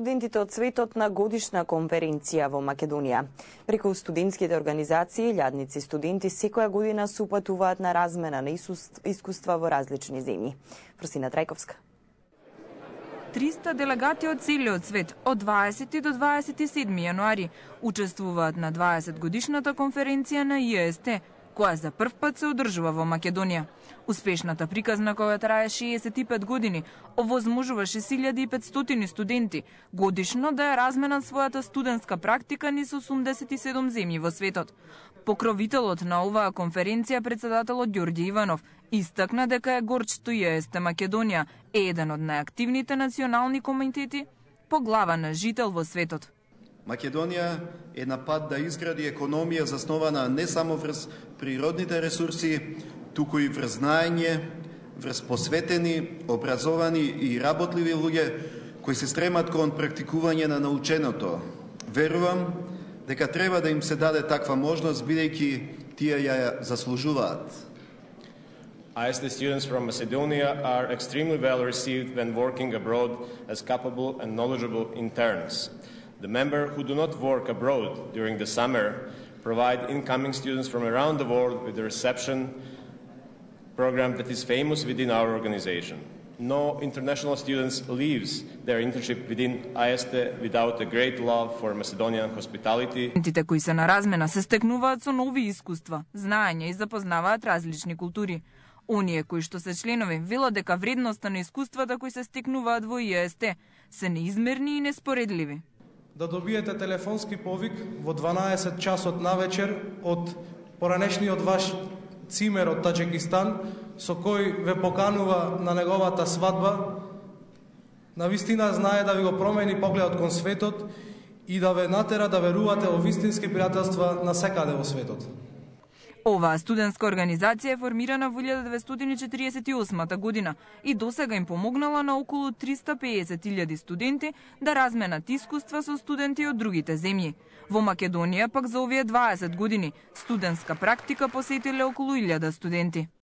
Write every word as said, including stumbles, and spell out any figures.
студентите од светот на годишна конференција во Македонија. Преку студентските организации, илјадници студенти секоја година се упатуваат на размена на искуства во различни земји. Просина Трајковска. триста делегати од целиот свет од дваесети до дваесет и седми јануари учествуваат на дваесет годишната конференција на И Е Ес Те, која за прв пат се одржува во Македонија. Успешната приказна, која трае шеесет и пет години, овозможува шест илјади и петстотини студенти годишно да ја разменат својата студентска практика низ осумдесет и седум земји во светот. Покровителот на оваа конференција, председателот Ѓорѓе Иванов, истакна дека е горд што И Е Ес Те Македонија е еден од најактивните национални комитети по глава на жител во светот. Македонија е на пат да изгради економија заснована не само врз природните ресурси, туку и врз знаење, врз посветени, образовани и работливи луѓе кои се стремат кон практикување на наученото. Верувам дека треба да им се даде таква можност, бидејќи тие ја заслужуваат. I E S T students from Macedonia are extremely well received when working abroad as capable and knowledgeable interns. The members who do not work abroad during the summer provide incoming students from around the world with a reception program that is famous within our organization. No international students leaves their internship within I E S T without a great love for Macedonian hospitality. Студентите кои се на размена се стекнуваат со нови искуства, знаења и запознаваат различни култури. Оние кои што се членови велат дека вредноста на искуствата кои се стекнуваат во И Е Ес Те се неизмерни и неспоредливи. Да добиете телефонски повик во дванаесет часот навечер од поранешниот ваш цимер од Таџикистан, со кој ве поканува на неговата свадба, навистина знае да ви го промени погледот кон светот и да ве натера да верувате во вистински пријателства на секаде во светот. Оваа студентска организација е формирана во илјада деветстотини четиридесет и осма година и досега им помогнала на околу триста и песет илјади студенти да разменат искуства со студенти од другите земји. Во Македонија пак за овие дваесет години студентска практика посетиле околу илјада студенти.